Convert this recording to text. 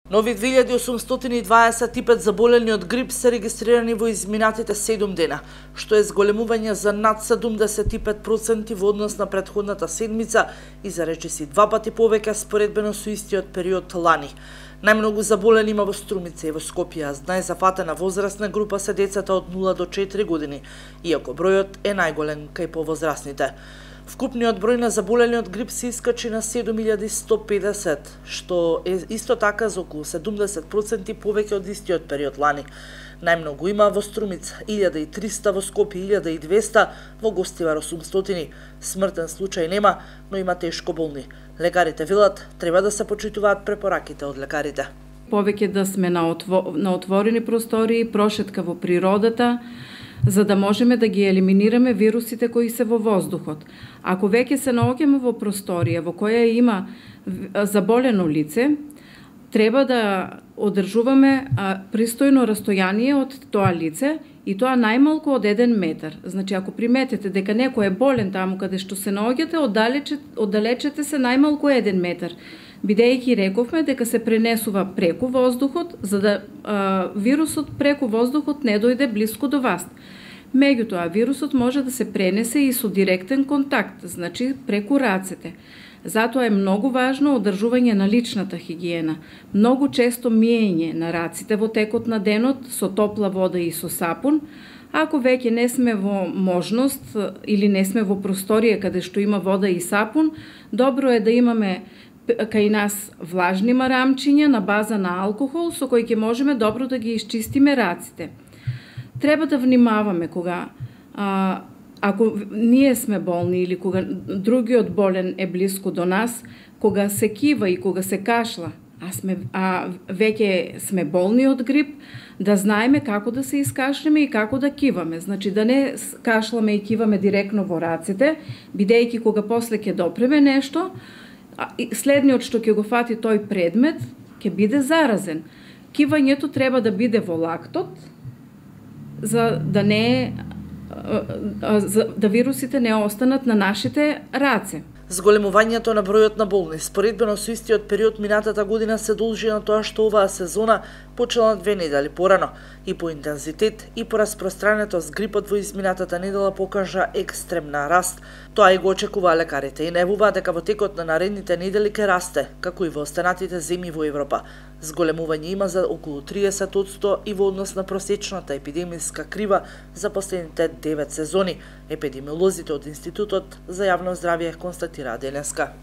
Нови 2825 заболени од грип се регистрирани во изминатите 7 дена, што е зголемување за над 75% во однос на претходната седмица и за речиси 2 пати повеќе споредбено со истиот период лани. Најмногу заболени има во Струмица и во Скопје, а најзафатена возрастна група се децата од 0 до 4 години, иако бројот е најголем кај повозрастните. Вкупниот број на заболени од грип се искачи на 7150, што е исто така за околу 70% повеќе од истиот период лани. Најмногу има во Струмица 1300, во Скопје 1200, во Гостивар 800. Смртен случај нема, но има тешко болни. Лекарите велат треба да се почитуваат препораките од лекарите. Повеќе да сме на отворени простории, прошетка во природата, за да можеме да ги елиминираме вирусите кои се во воздухот. Ако веќе се наоѓаме во просторија во која има заболено лице, треба да одржуваме пристојно растојание од тоа лице и тоа најмалку од 1 метар. Значи, ако приметите дека некој е болен таму каде што се наоѓате, оддалечете се најмалку 1 метар. Бидејќи рековме дека се пренесува преку воздухот, за да вирусот преку воздухот не дојде блиску до вас. Меѓутоа, вирусот може да се пренесе и со директен контакт, значи преку рацете. Затоа е многу важно одржување на личната хигиена, многу често миење на раците во текот на денот со топла вода и со сапун. Ако веќе не сме во можност или не сме во просторија каде што има вода и сапун, добро е да имаме кај нас влажни марамчиња на база на алкохол со кои ќе можеме добро да ги исчистиме раците. Треба да внимаваме кога ако ние сме болни или кога другиот болен е блиску до нас, кога се кива и кога се кашла, веќе сме болни од грип, да знаеме како да се искашлеме и како да киваме. Значи да не кашламе и киваме директно во раците, бидејќи кога после ќе допреме нешто, следниот што ќе го фати тој предмет ќе биде заразен. Кивањето треба да биде во лактот, за да да вирусите не останат на нашите раце. Зголемувањето на бројот на болни споредбено со истиот период минатата година се должи на тоа што оваа сезона почела 2 недели порано и по интензитет и по распространетост грипот во изминатата недела покажа екстремна раст. Тоа и го очекуваа лекарите и најавуваат дека во текот на наредните недели ќе расте, како и во останатите земји во Европа. Зголемување има за околу 30% и во однос на просечната епидемиска крива за последните 9 сезони. Епидемиолозите од Институтот за јавно здравје констатираа денеска.